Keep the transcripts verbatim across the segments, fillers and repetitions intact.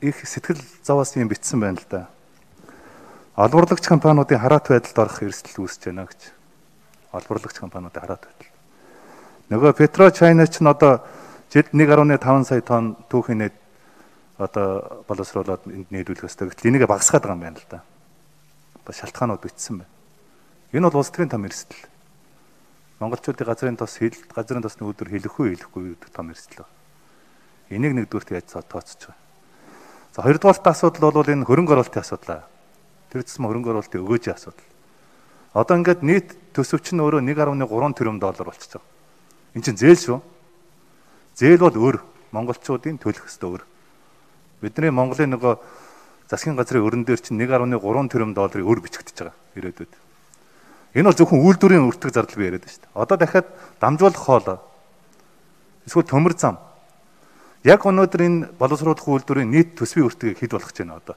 Их сэтгэл зовоос юм битсэн байна л да. Олборлагч компаниудын хараат байдалд орох эрсдэл үүсэж байна гэж. Олборлагч компаниудын хараат байдал. Нөгөө Петрочайна ч н одоо жилд нэг гаруй таван сая тонн түүхийн нээд одоо боловсруулаад энд нийлүүлэх ёстой. Гэтэл энийг багасгаад байгаа юм байна л да. Бас шалтгаанууд битсэн байна. Энэ бол улс төрийн том эрсдэл. Монголчуудын газрын тос хил газрын тосны өдөр хэлэхгүй хэлэхгүй гэдэг том эрсдэл байна. Энийг нэгдүгürt яаж тооцож байгаа. За хоёрдугаар асуудал бол энэ хөрөнгө оруулалтын асуудал. Тэр зэсм хөрөнгө оруулалтын өгөөжийн асуудал. Одоо ингээд нийт төсөвч нь өөрөө нэг гаруй гурван тэрбум доллар болчихж байгаа. Энд чинь зээл шүү. Зээл бол өөр. Монголчуудын төлөх ёстой өөр. Бидний Монголын нөгөө засгийн газрын өрн дээр чинь нэг гаруй гурван тэрбум долларыг өөр бичигдэж байгаа ирээдүйд. Энэ бол зөвхөн үйлдвэрийн өртөг зардал бий яриад байна шүү дээ. Одоо дахиад дамжуулах хоол. Эсвэл төмөр зам. Яг өнөөдөр энэ боловсруулах үйлдвэрийн нийт төсвийн өртгийг хэд болгох гэж байна одоо?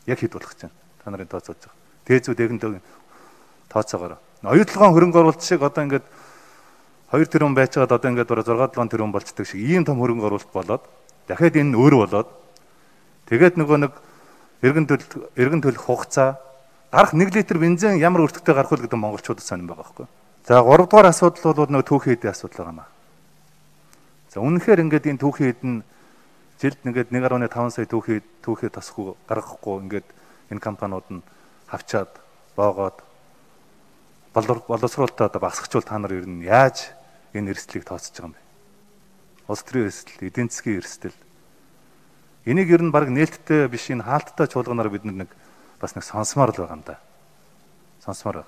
Яг хэд болгох гэж байна? Та нарын тооцоож байгаа. Дээзүү дэгэндэг тооцоогоор. Оюутлогын хөрөнгө оруулалт шиг одоо ингээд хоёр тэрбум байж байгаад одоо ингээд бараг зургаан долоон тэрбум болцдог шиг ийм том хөрөнгө оруулалт болоод дахиад энэ өөр болоод тэгээд нөгөө нэг эргэн төлөх эргэн төлөх хугацаа гарах нэг литр бензин ямар өртөгтэй гарах вэ гэдэг монголчуудад сонирн байгаа байхгүй. За гурав дахь асуудал бол нөгөө түүхийн эдийн асуудал байгаа юм аа. За үнэхээр ингээд энэ түүхийн эдэн жилд ингээд нэг гаруй таван сая түүхий түүхий тасахгүй гаргахгүй ингээд энэ компаниуд нь хавчаад боогоод боловсруулалтаа одоо багасгачвал та нар ер нь яаж энэ эрсдлийг тооцож байгаа юм бэ? Улс төрийн эрсдэл, эдийн засгийн эрсдэл. Энийг ер нь баг нээлттэй биш энэ хаалттай чуулганаар бид нэг бас нэг сонсомоор л байгаа юм да. Сонсомоор.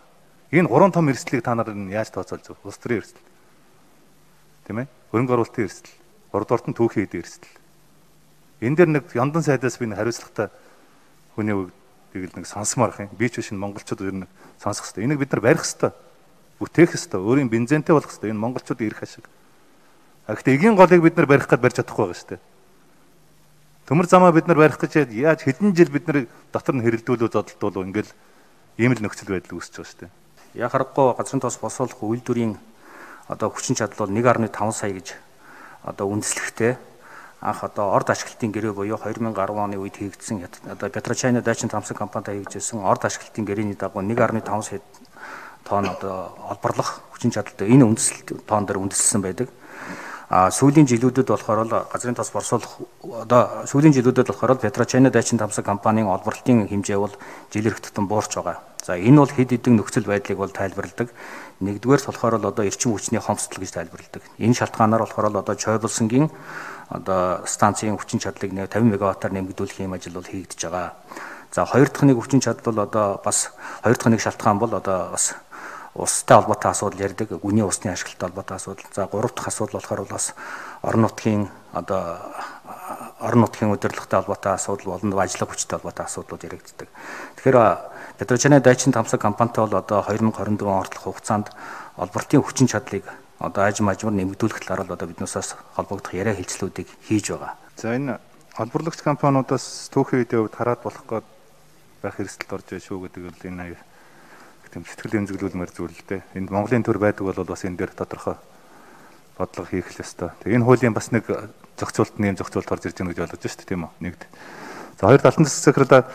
Энэ гурван том эрсдлийг та нар нь яаж тооцоолж байгаа? Улс төрийн эрсдэл. Тийм ээ? Хөрөнгө оруулалтын эрсдэл, гуравдугаарт нь түүхийн эдийн эрсдэл. Энэ дээр нэг яндан сайдаас би нэг хариуцлагатай хүний үгийг нэг сонсомоор ах юм. Би ч биш монголчууд ер нь сонсох хэрэгтэй. Энийг бид нар барих хэрэгтэй. Бүтээх хэрэгтэй. Өөрийн бензинтэй болох хэрэгтэй. Энэ монголчуудын эрх ашиг. А гэхдээ эгийн голыг бид нар барих гэж барьж чадахгүй байгаа шүү дээ. Төмөр замаа бид нар барих гэж яаж хэдэн жил бид нар дотор нь хэрэлдүүлүү зодтолтуулуу ингээл ийм л нөхцөл байдал үүсэж байгаа шүү дээ. Яг харахгүй газрын тос босруулах үйлдвэрийн одоо хүчин чадал бол нэг гаруй таван сая гэж одоо үндэслэхтэй анх одоо орд ашиглалтын гэрээ буюу хоёр мянган дөрвөн оны үед хийгдсэн одоо Петрочайна Дайчин Тамсан компанитай хийгдсэн орд ашиглалтын гэрээний дагуу нэг гаруй таван сая тонн одоо олборлох хүчин чадалтай энэ үндэслэлт тоон дээр үндэслсэн байдаг. А сүүлийн жилүүдэд болохоор л газрын тос борсуулах одоо сүүлийн жилүүдэд болохоор л Петрочайна Дайчин Тамсан компанийн олборлолтын хэмжээ бол жилэрх тутам буурч байгаа. За энэ бол хэд хэдэн нөхцөл байдлыг бол тайлбарладаг. Нэгдүгээр болохоор л одоо эрчим хүчний хомсдол гэж тайлбарладаг. Энэ шалтгаанаар болохоор л одоо Чойболсонгийн одоо станцын хүчин чадлыг тавин мегаваттаар нэмэгдүүлэх юм ажил бол хийгдэж байгаа. За хоёр дахь нэг хүчин чадал бол одоо бас хоёр дахь нэг шалтгаан бол одоо бас устай холбоотой асуудал ярьдаг. Гүний усны ашиглалтай холбоотой асуудал. За гурав дахь асуудал болохоор бас орон нутгийн одоо орон нутгийн удирдлагатай холбоотой асуудал болон ажлын хүчтэй холбоотой асуудлууд яригддаг. Тэгэхээр Петрочайна Дайчин Тамсан компанитай бол одоо хоёр мянган хорин дөрвөн ортлох хугацаанд олборлтын хүчин чадлыг одоо ажим ажмар нэмэгдүүлэх талаар л одоо биднээс холбогдох яриа хэлцлүүдийг хийж байгаа. За энэ олборлагч компаниудаас түүхийн үеийн хувьд хараад болох гээд байх эрсдэлд орж байгаа шүү гэдэг л энэ аяг тийм сэтгэл эмзэглүүлмээр зүйл л дээ. Энд Монголын төр байдаг бол бас энэ дээр тодорхой бодлого хийх л ёстой. Тэгээ энэ хуулийн бас нэг зохицуулт нэм зохицуулт орж ирж байгаа гэж ойлгож шүү дээ тийм үү? Нэгд. За хоёр алтан засгийн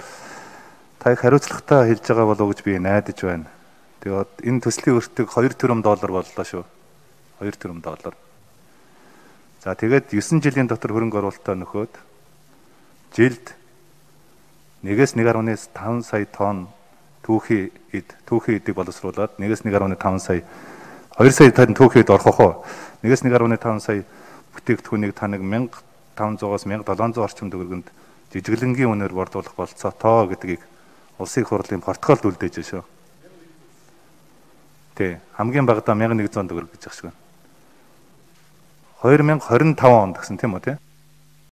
та их хариуцлагатай хэлж байгаа болов уу гэж би найдаж байна. Тэгээд энэ төслийн өртөг хоёр тэрбум доллар боллоо шүү. хоёр тэрбум доллар. За тэгээд есөн жилийн дотор хөрөнгө оруулалтаа нөхөөд жилд нэгээс нэг гаруй таван сая тонн түүхийн эд түүхийн эдийг боловсруулад нэгээс нэг гаруй таван сая хоёр сая тонн түүхийн эд орох уу? Нэгээс нэг гаруй таван сая бүтээгдэхүүнийг та нэг мянга таван зугаас мянга долоон зуун орчим төгрөгөнд жижиглэнгийн үнээр борлуулах болцоотоо гэдгийг улсын их хурлын протоколд үлдээж шүү. Тэ хамгийн багадаа мянга нэгдүгээр төгрөг гэж ахшгүй. хоёр мянган хорин таван онд гэсэн тийм үү те?